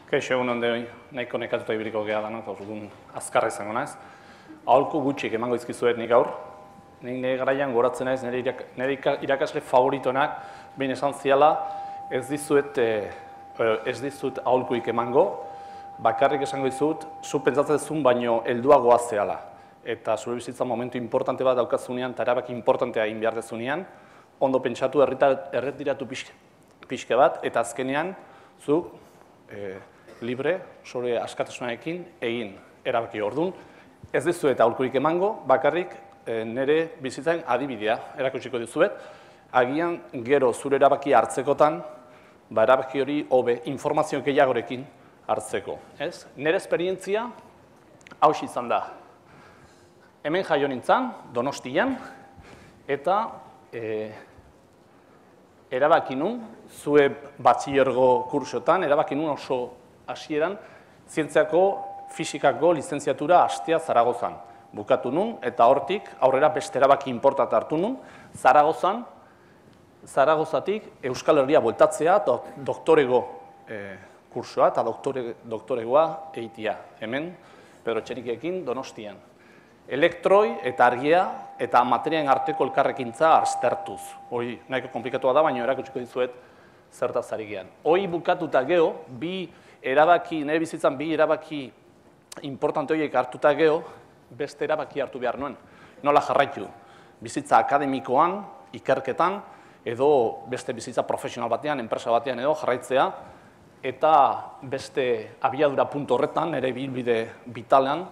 Kaixo egun ondoi, nahiko nekatuta ibiliko geha da, azkarra izango naiz. Aholku gutxik emango izkizuet nik gaur. Nik nire garaian goratzen naiz, nire irakasle favoritonak, behin esan ziala, ez dizut aholkuik emango, bakarrik esango dizut, zu pentsatzen zuen baino helduagoa zehala. Eta zure bizitza momentu importante bat daukazunean, eta erabaki importantea egin behar dezunean, ondo pentsatu erretiratu pixke bat, eta azkenean, zu libre, zure askatasunarekin egin erabaki ordun. Ez dizuet aholkurik emango, bakarrik nire bizitzaren adibidea erakutsiko dizuet. Agian gero zure erabaki hartzekotan, erabaki hori hobe informazio gehiagorekin hartzeko. Nire esperientzia hauxe izan da. Hemen jaio nintzen, Donostian, eta erabaki nun, zue batxilergo kursotan, erabaki nun oso hasieran, zientziako, fisikako lizentziatura hastea Zaragozan. Bukatu nun, eta hortik aurrera beste erabaki inportat hartu nun, Zaragozatik Euskal Herria bueltatzea, doktorego kursoa eta doktoregoa egitea. Hemen, Pedro Etxenikekin, Donostian. Elektroi eta argia eta materialen arteko elkarrekintza aztertuz. Hori nahiko komplikatua da, baina erakutsiko dizuet zertaz ari gean. Hori bukatuta geho, nire bizitzan bi erabaki importante horiek hartuta geho, beste erabaki hartu behar nuen. Nola jarraitu? Bizitza akademikoan, ikerketan, edo beste bizitza profesional batean, enpresa batean edo jarraitzea, eta beste abiadura puntu horretan, nire bilbide vitalean,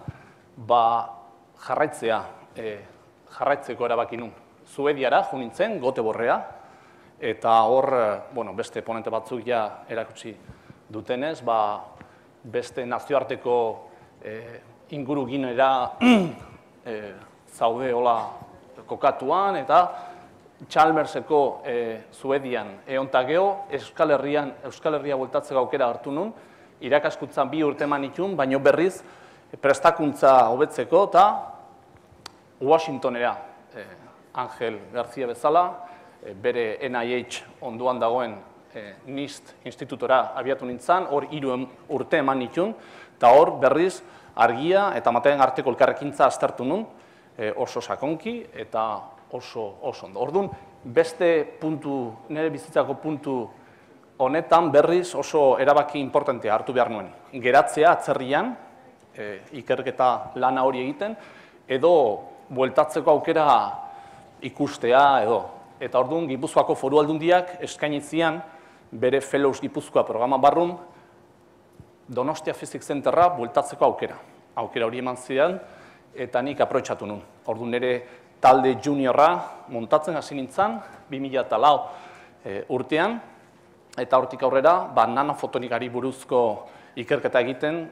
jarraitzeko erabaki nun. Suediara jo nintzen, Göteborgera, eta hor beste ponente batzuk ja erakutsi dutenez, beste nazioarteko inguruginera zaude hola kokatuan, eta Chalmerseko Suedian egonta geho, Euskal Herria bueltatzeko aukera hartu nun, irakaskuntzan 2 urte eman nituen, baino berriz prestakuntza hobetzeko, eta Washingtonera, Angel García bezala, bere NIH onduan dagoen NIST institutora abiatu nintzen, hor 3 urte eman nituen, eta hor berriz argia eta materialen arteko elkarrekintza aztertu nun, oso sakonki eta oso ondo. Orduan, beste puntu, nire bizitzako puntu honetan berriz oso erabaki importantea hartu behar nuen. Geratzea atzerrian, ikerketa lana hori egiten, edo bueltatzeko aukera ikustea edo. Eta orduan, Gipuzkoako Foru Aldundiak eskainitzian bere Fellows Gipuzkoa programa barrun Donostia Physics Centerra bueltatzeko aukera. Aukera hori eman zidan, eta nik aprobetxatu nun. Orduan, nire talde juniorra montatzen hasi nintzen, 2004 urtean, eta hortik aurrera, nanofotonikari buruzko ikerketa egiten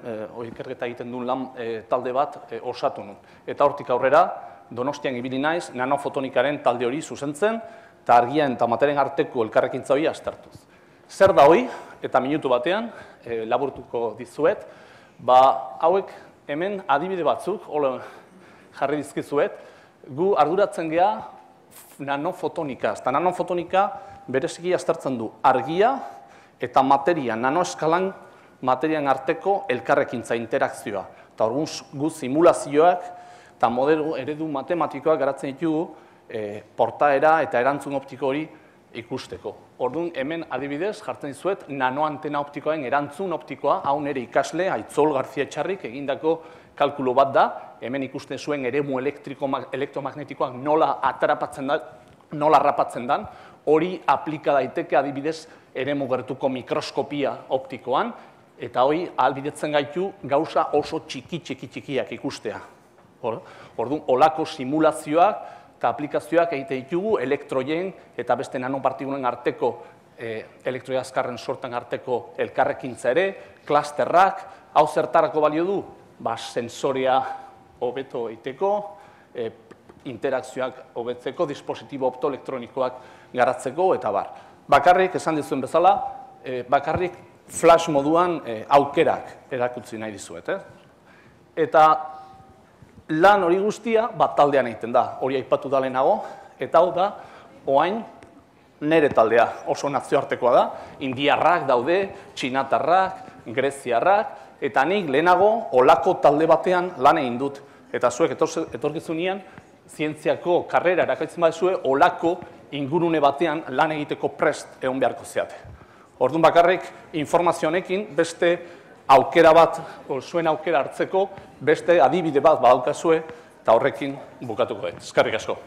duen lan talde bat osatu nun. Eta hortik aurrera, Donostian ibili naiz, nanofotonikaren talde hori zuzentzen, eta argian eta materialen arteko elkarrekintza hori aztertuz. Zer da hori, eta minutu batean, laburtuko dizuet, hauek hemen adibide batzuk, jarri dizkizuet, gu arduratzen geha nanofotonika. Eta nanofotonika bereziki aztertzen du argia eta materia, nanoeskalan materialen arteko elkarrekintza, interakzioa. Eta orduan gu simulazioak eta modelo eredu matematikoak garatzen ditugu portaera eta erantzun optiko hori ikusteko. Orduan hemen adibidez jartzen dizuet nanoantena optikoaren erantzun optikoa, hau nire ikasle, Aitzol García Etxarrik egindako kalkulo bat da, hemen ikusten zuen eremu elektromagnetikoak nola atrapatzen da, nola harrapatzen dan, hori aplika daiteke adibidez eremu gertuko mikroskopia optikoan, eta hori ahalbidetzen gaitu gauza oso txikiak ikustea. Orduan, olako simulazioak eta aplikazioak egite ditugu elektroien eta beste nanopartikulen arteko, elektroi azkarren sorten arteko elkarrekintza ere, klasterrak, hau zertarako balio du? Sensoria hobeto egiteko, interakzioak hobetzeko, dispositibo optoelektronikoak garatzeko, eta bar. Bakarrik, esan dizuen bezala, bakarrik flash moduan aukerak erakutsi nahi dizuet. Eta lan hori guztia taldean egiten da, hori aipatu da lehenago, eta hau da, oain nere taldea oso nazioartekoa da, indiarrak daude, txinatarrak, greziarrak, eta nik lehenago olako talde batean lan egin dut. Eta zuek etorkizunean, zientziako karrera erakaitzen badezue, olako ingurune batean lan egiteko prest egon beharko zeate. Orduan bakarrik, informazio honekin beste aukera bat, zuen aukera hartzeko, beste adibide bat badaukazue, eta horrekin bukatuko dut. Eskerrik asko.